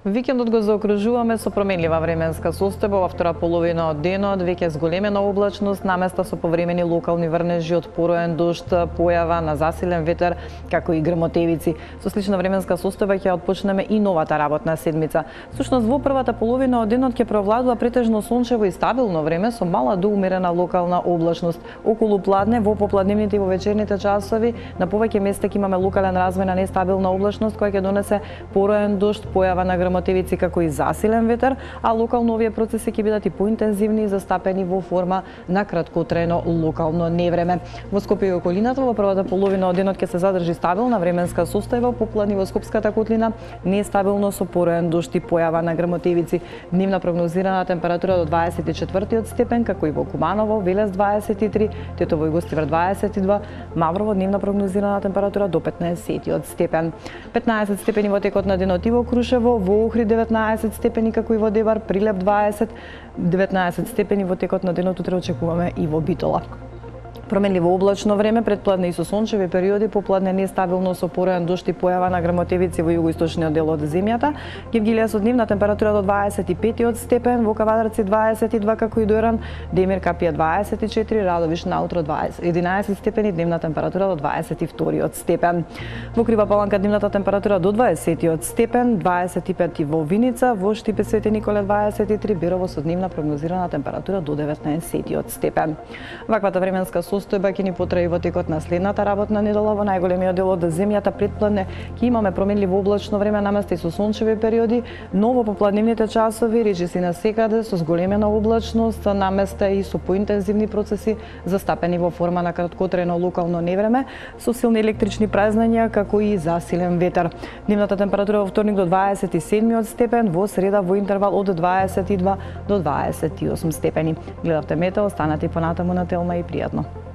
Викендот го заокружуваме со променлива временска состојба во втора половина од денот, веќе зголемена облачност, наместа со повремени локални врнежи од пороен дожд, појава на засилен ветер, како и грмотевици. Со слична временска состојба ќе отпочнеме и новата работна седмица. Всушност во првата половина од денот ќе провладува претежно сончево и стабилно време со мала до умерена локална облачност. Околу пладне, во попладневните и во вечерните часови, на повеќе места ќе имаме локален развој на нестабилна облачност која ќе донесе пороен дожд, појава на грмотевици како и засилен ветер, а локално овие процеси ќе бидат и поинтензивни и застапени во форма на краткотрајно локално невреме. Во Скопје и околината во првата половина од денот ќе се задржи стабилна временска состојба, попладни во Скопската котлина, нестабилно со пороен дожд и појава на грмотевици. Дневна прогнозирана температура до 24 степен, како и во Куманово, Велес 23, Тетово и Гостивар 22, Маврово дневна прогнозирана температура до 15 степен. 15 степени во текот на денот и во Крушево, во Охрид 19 степени како и во Дебар, Прилеп 20, 19 степени во текот на денот утре очекуваме и во Битола. Променливо облачно време, предпладне и со сончеви периоди, попладне нестабилно со пороен дожд и појава на грмотевици во југоисточниот дел од земјата. Гевгилија со дневна температура до 25 степен, во Кавадарци 22 како и Дојран, Демир Капија 24, Радовиш наутро 11 степени, дневна температура до 22 степен. Во Крива Паланка дневната температура до 20 степен, 25 во Виница, во Штипе Свети Николе 23, Берово со дневна прогнозирана температура до 19 степен. Ваквата временска состојба ќе ни потраи во текот на следната работна недела. Во најголемиот дел од земјата предпладне ќе имаме променливо облачно време наместо и со сончеви периоди, но во попладневните часови речиси на секаде со зголемена облачност, наместо и со поинтензивни процеси застапени во форма на краткотрајно локално невреме со силни електрични празнења како и засилен ветер. Дневната температура во вторник до 27 степен, во среда во интервал од 22 до 28 степени. Гледавте Метео, останете понатаму на Телма и пријатно.